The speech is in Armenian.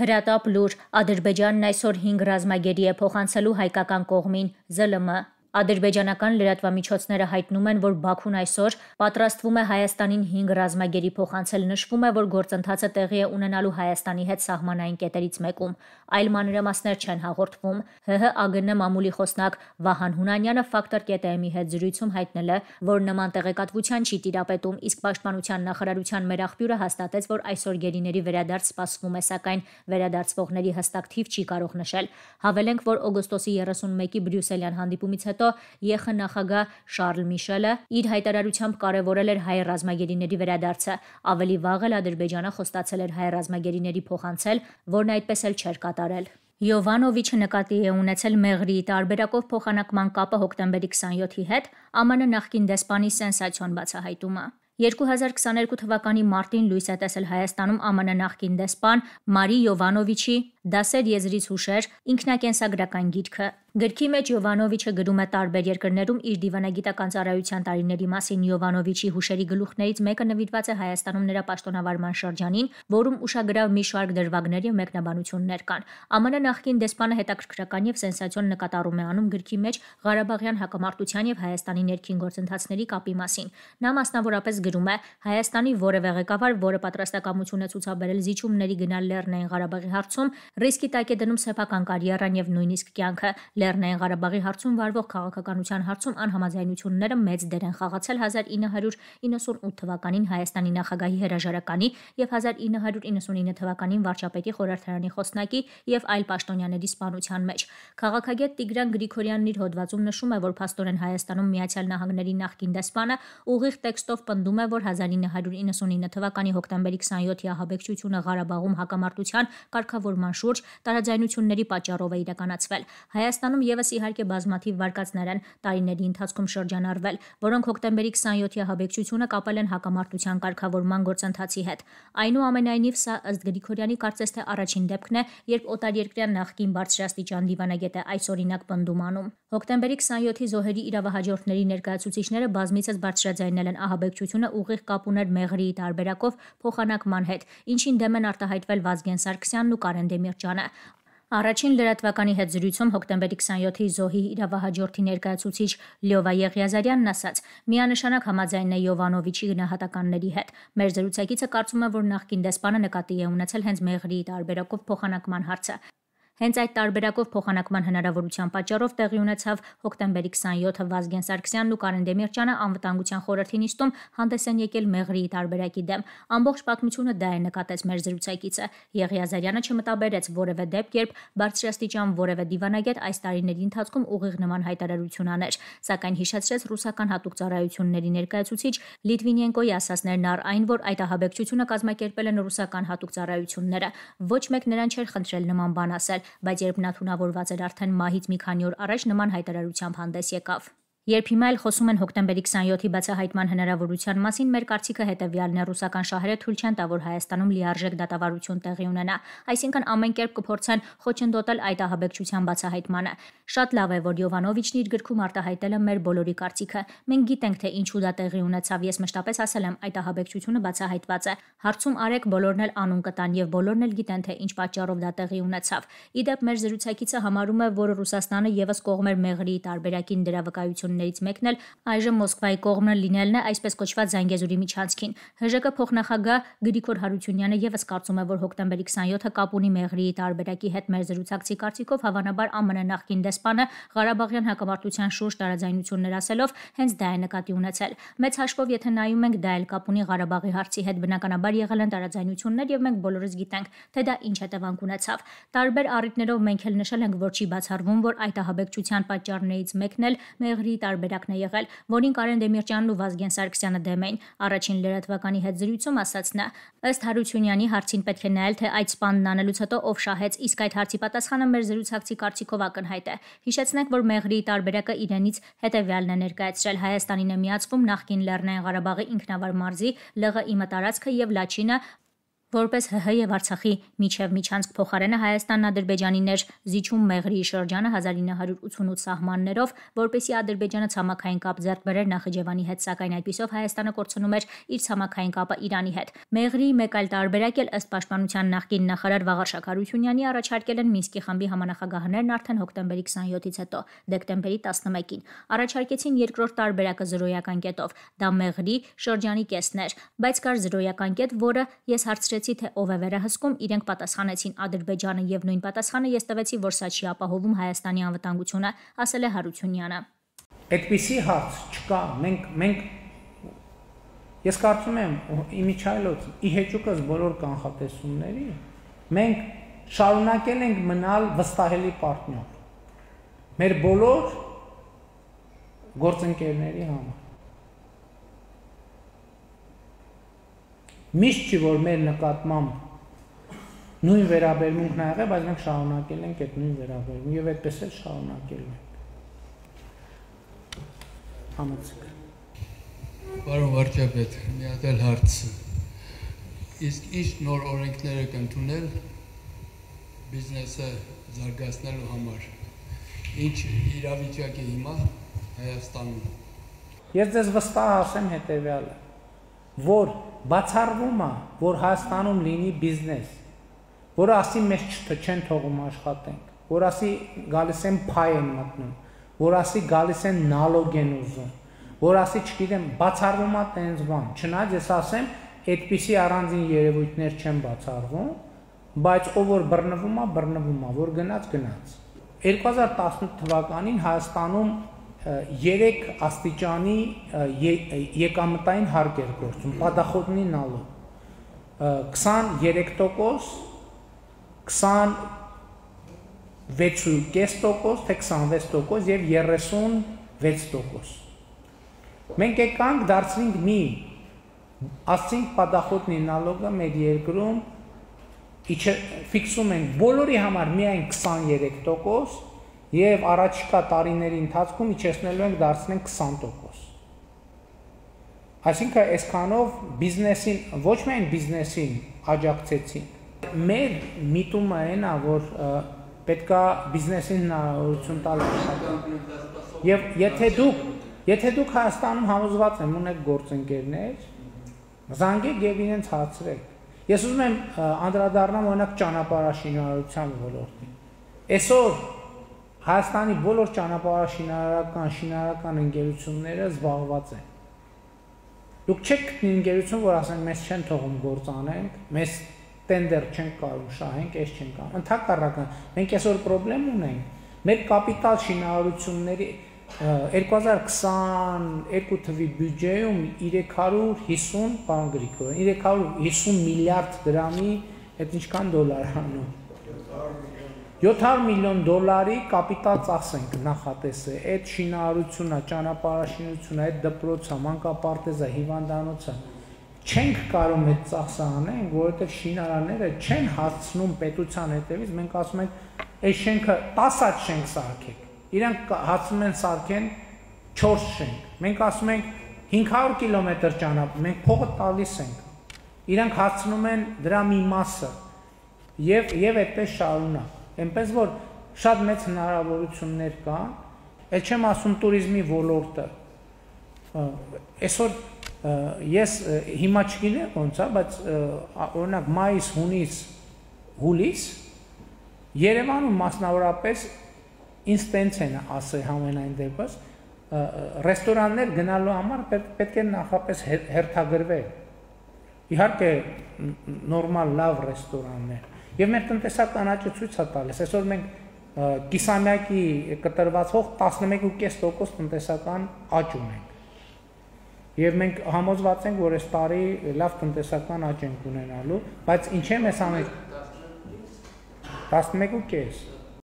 Հրատապ լուր Ադրբեջանն այսօր 5 ռազմագերի է փոխանցելու հայկական կողմին ԶԼՄ Ադրբեջանական լրատվամիջոցները հայտնում են, որ Բաքուն այսօր պատրաստվում է Հայաստանին 5 ռազմագերի փոխանցել, նշվում է, որ գործընթացը տեղի է ունենալու Հայաստանի հետ սահմանային կետերից մեկում, այլ մանրամասներ չեն հաղորդվում։ ՀՀ-ԱԳՆ մամուլի խոսնակ Վահան Հունանյանը Factor.am-ի հետ զրույցում հայտնել է, որ նման տեղեկատվության չի տիրապետում, իսկ Պաշտպանության նախարարության մեր աղբյուրը հաստատեց, որ այսօր գերիների վերադարձ սպասվում է, սակայն վերադարձվողների հստակ թիվ չի կարող նշել։ Հավելենք, որ օգոստոսի 31-ի Բրյուսելյան հանդիպումից հետո ԵԽ նախագահ Շարլ Միշելը իր հայտարարությամբ կարևորել էր հայ ռազմագերիների վերադարձը, ավելի վաղ էլ Ադրբեջանը խոստացել էր հայ ռազմագերիների փոխանցել, որն այդպես էլ չէր կատարել։ Յովանովիչը նկատի է ունեցել Մեղրիի տարբերակով փոխանակման կապը հոկտեմբերի 27-ի հետ, ԱՄՆ նախկին դեսպանի սենսացիոն բացահայտումը։ 2022 թվականի մարտին լույս է տեսել Հայաստանում ԱՄՆ նախկին դեսպան Մարի Յովանովիչի «Դասեր եզրից հուշեր» ինքնակենսագրական գիրքը։ Գրքի մեջ Յովանովիչը գրում է տարբեր երկրներում իր դիվանագիտական ծառայության տարիների մասին։ Յովանովիչի հուշերի գլուխներից մեկը նվիրված է Հայաստանում նրա պաշտոնավարման շրջանին, որում ուշագրավ մի շարք դրվագներ և մեկնաբանություններ կան։ ԱՄՆ նախկին դեսպանը հետաքրքրական և սենսացիոն նկատառում է անում գրքի մեջ Ղարաբաղյան հակամարտության և Հայաստանի ներքին գործընթացների կապի մասին։ Նա մասնավորապես գրում է. «Հայաստանի որևէ ղեկավար, որը պատրաստակամություն է ցուցաբերել զիջումների գնալ Լեռնային Ղարաբաղի հարցում, ռիսկի տակ է դնում սեփական կարիերան և նույնիսկ կյանքը։ Լեռնային Ղարաբաղի հարցում վարվող քաղաքականության հարցում անհամաձայնությունները մեծ դեր են խաղացել 1998 թվականին Հայաստանի նախագահի հրաժարականի և 1999 թվականին վարչապետի խորհրդարանի խոսնակի և այլ պաշտոնյաների սպանության մեջ»։ Քաղաքագետ Տիգրան Գրիգորյանն իր հոդվածում նշում է, որ փաստորեն Հայաստանում Միացյալ Նահանգների նախկին դեսպանը ուղիղ տեքստով պնդում է, որ 1999 թվականի հոկտեմբերի 27-ի ահաբեկչությունը Ղարաբաղում հակամարտության կարգավորման շուրջ տարաձայնությունների պատճառով է իրականացվել։ Հայաստանում ևս իհարկե բազմաթիվ վարկածներ են տարիների ընթացքում շրջանառվել, որոնք հոկտեմբերի 27-ի ահաբեկչությունը կապել են հակամարտության կարգավորման գործընթացի հետ։ Այնուամենայնիվ, սա ըստ Գրիգորյանի կարծես թե առաջին դեպքն է, երբ օտարերկրյա նախկին բարձրաստիճան դիվանագետ է այս օրինակ պնդում անում։ Հոկտեմբերի 27-ի զոհերի իրավահաջորդների ներկայացուցիչները բազմիցս բարձրաձայնել են ահաբեկչությունը ուղիղ կապ ուներ Մեղրիի տարբերակով փոխանակման հետ, ինչին դեմ են արտահայտվել Վազգեն Սարգսյանն ու Կարեն Դեմիրճյանը։ Առաջին լրատվականի հետ զրույցում հոկտեմբերի 27-ի զոհի իրավահաջորդի ներկայացուցիչ Լյովա Եղիազարյանն ասաց. «Միանշանակ համաձայն է Յովանովիչի գնահատականների հետ։ Մեր զրուցակիցը կարծում է, որ նախկին դեսպանը նկատի է ունեցել հենց Մեղրիի տարբերակով փոխանակման հարցը։ Հենց այդ տարբերակով փոխանակման հնարավորության պատճառով տեղի ունեցավ հոկտեմբերի 27-ը Վազգեն Սարգսյանն ու Կարեն Դեմիրճյանը անվտանգության խորհրդի նիստում հանդես են եկել Մեղրիի տարբերակի դեմ։ Ամբողջ պատմությունը դա է», նկատեց մեր զրուցակիցը։ Եղիազարյանը չմտաբերեց որևէ դեպք, երբ բարձրաստիճան որևէ դիվանագետ այս տարիների ընթացքում ուղիղ նման հայտարարություն աներ, սակայն հիշեցրեց ռուսական հատուկ ծառայությունների ներկայացուցիչ Լիտվինենկոյի ասածներն առ այն, որ այդ ահաբեկչությունը կազմակերպել են ռուսական հատուկ ծառայությունները։ Ոչ մեկ նրան չէր խնդրել նման բան ասել, բայց երբ նա թունավորված էր արդեն մահից մի քանի օր առաջ, նման հայտարարությամբ հանդես եկավ։ Երբ հիմա էլ խոսում են հոկտեմբերի 27-ի բացահայտման հնարավորության մասին, մեր կարծիքը հետևյալն է. ռուսական շահերը թույլ չեն տա, որ Հայաստանում լիարժեք դատավարություն տեղի ունենա, այսինքն ամեն կերպ կփորձեն խոչընդոտել այդ ահաբեկչության բացահայտմանը։ Շատ լավ է, որ Յովանովիչն իր գրքում արտահայտել է մեր բոլորի կարծիքը։ Մենք գիտենք, թե ինչու դա տեղի ունեցավ, ես մշտապես ասել եմ, այդ ահաբեկչությունը բացահայտված է։ Հարցում արեք, բոլորն էլ անուն կտան եւ բոլորն էլ գիտեն, թե ինչ պատճառով դա տեղի ունեցավ։ Իդեպ մեր զրուցակիցը համարում է, որ Ռուսաստանը եւս կողմ էր Մեղրիի տարբերակին դրա վկայություններից մեկն էլ այժմ Մոսկվայի կողմը լինելն է այսպես կոչված Զանգեզուրի միջանցքին։ ՀԺԿ փոխնախագահ Գրիգոր Հարությունյանը եւս կարծում է, որ հոկտեմբերի 27-ը կապ ունի Մեղրիի տարբերակի հետ։ Մեր զրուցակցի կարծիքով, հավանաբար ԱՄՆ նախկին դեսպանը Ղարաբաղյան հակամարտության շուրջ տարաձայնություններ ասելով հենց դա է նկատի ունեցել։ Մեծ հաշվով, եթե նայում ենք, դա էլ կապ ունի Ղարաբաղի հարցի հետ, բնականաբար եղել են տարաձայնություններ եւ մենք բոլորս գիտենք, թե դա ինչ հետևանք ունեցավ։ Տարբեր առիթներով մենք էլ նշել ենք, որ չի բացառվում, որ այդ ահաբեկչության պատճառներից մեկն էլ Մեղրիի տարբերակն է եղել, որին Կարեն Դեմիրճյանն ու Վազգեն Սարգսյանը դեմ էին։ Առաջին լրատվականի հետ զրույցում ասաց նա. ըստ Հարությունյանի հարցին պետք է նայել, թե այդ սպանն անելուց հետո ով շահեց, իսկ այդ հարցի պատասխանը մեր զրուցակցի կարծիքով ակնհայտ է։ Հիշեցնենք, որ Մեղրիի տարբերակը իրենից հետևյալն է ներկայացրել. Հայաստանին է միացվում նախկին Լեռնային Ղարաբաղի ինքնավար մարզի ԼՂԻՄ տարածքը եւ Լաչինը, Որպես ՀՀ եւ Արցախի միջև միջանցք փոխարենը Հայաստանն Ադրբեջանին էր զիջում Մեղրիի շրջանը 1988 սահմաններով, որպեսզի Ադրբեջանը ցամաքային կապ ձեռք բերեր Նախիջևանի հետ, սակայն այդպիսով Հայաստանը կորցնում էր իր ցամաքային կապը Իրանի հետ։ Մեղրիի մեկ այլ տարբերակ էլ ըստ Պաշտպանության նախկին նախարար Վաղարշակ Հարությունյանի առաջարկել են Մինսկի խմբի համանախագահներն արդեն հոկտեմբերի 27-ից հետո, դեկտեմբերի 11-ին։ Առաջարկեցին երկրորդ տարբերակը զրոյական կետով, դա Մեղրի շրջանի կեսն էր, բայց կար զրոյական կետ, որը ես հարցրեցի, թե ով է վերահսկում, իրենք պատասխանեցին Ադրբեջանը եւ նույն պատասխանը ես տվեցի, որ սա չի ապահովում Հայաստանի անվտանգությունը, ասել է Հարությունյանը։ Այդպիսի հարց չկա, մենք ես կարծում եմ իմիջայլոց ի հեճուկս բոլոր կանխատեսումների մենք շարունակել ենք մնալ վստահելի պարտներ մեր բոլոր գործընկերների համար։ Միշտ չի որ մեր նկատմամբ նույն վերաբերմունքն ա եղել, բայց մենք շարունակել ենք այդ նույն վերաբերմունքը եւ այդպես էլ շարունակելու ենք։ Համեցեք։ Պարոն վարչապետ, մի հատ էլ հարց։ Իսկ ինչ նոր օրենքներ եք ընդունել բիզնեսը զարգացնելու համար։ Ինչ իրավիճակ է հիմա Հայաստանում։ Ես ձեզ վստահ ասեմ հետեւյալը, որ բացառվում է, որ Հայաստանում լինի բիզնես, որը ասի մեզ չեն թողում աշխատենք, որ ասի գալիս են փայ են մտնում, որ ասի գալիս են նալոգ են ուզում, որ ասի չգիտեմ, բացառվում է տենց բան, չնայած ես ասեմ, այդպիսի առանձին երևույթներ չեն բացառվում, բայց ով որ բռնվում է, որ գնաց։ 2018 թվականին Հայաստանում 3 աստիճանի եկամտային հարկ էր գործում, պատախոտնի նալոգ, 23%, 26.5%, թե 26% եւ 36%։ Մենք եկանք դարձրինք ասենք պատախոտնի նալոգը մեր երկրում ֆիքսում ենք բոլորի համար միայն 23% եւ առաջիկա տարիների ընթացքում իջեցնելու ենք դարձնենք 20%։ Այսինքն այսքանով բիզնեսին, ոչ միայն բիզնեսին աջակցեցին։ Մեր միտումը այն է, որ պետքա բիզնեսին հնարավորություն տալ աշխատել։ Եվ եթե դուք Հայաստանում համոզված եմ ունեք գործընկերներ, զանգեք եւ իրենց հարցրեք։ Ես ուզում եմ անդրադառնամ օրինակ ճանապարհաշինարարության ոլորտին։ Այսօր Հայաստանի բոլոր ճանապարհաշինարարական ընկերությունները զբաղված են։ Դուք չեք գտնի ընկերություն, որ ասեն մեզ չեն թողում գործ անենք, մեզ տենդեր չենք կարող շահենք, այս չենք կարող։ Ընդհակառակը, մենք այսօր խնդրեմ ունենք։ Մեր կապիտալ շինարարությունների 2022 թվականի բյուջեում 350, պարոն Գրիգորյան, 350 միլիարդ դրամի, այդ ինչքան դոլար անում։ 700 միլիոն դոլարի կապիտալ ծախս ենք նախատեսել, այդ շինարարությունը, ճանապարհաշինությունը, այդ դպրոցը, մանկապարտեզը, հիվանդանոցը չենք կարող այդ ծախսը անենք, որովհետև շինարանները չեն հասցնում պետության հետևից, մենք ասում ենք, այս շենքը 10 հատ շենք սարքեք, իրանք հասցնում են սարքեն 4 շենք, մենք ասում ենք 500 կիլոմետր ճանապարհ, մենք փողը տալիս ենք, իրանք հասցնում են դրա մի մասը եւ այդպես շարունակ, այնպես որ շատ մեծ հնարավորություններ կան, այլ չեմ ասում туриզմի ոլորտը, այսօր ես հիմա չգիտեմ ոնց է, բայց օրինակ մայիս, հունիս, հուլիս Երևանում մասնավորապես ինձ տենց են ասել համենայն դեպս ռեստորաններ գնալու համար պետք է նախապես հերթագրվել, իհարկե նորմալ լավ ռեստորաններ եւ մեր տնտեսական աճը ցույց է տալիս, այսօր մենք կիսամյակի կտրվածող 11.5% տնտեսական աճ ունենք եւ մենք համոզված ենք, որ այս տարի լավ տնտեսական աճ ենք ունենալու, բայց ինչ է մեզ ամեն 11.5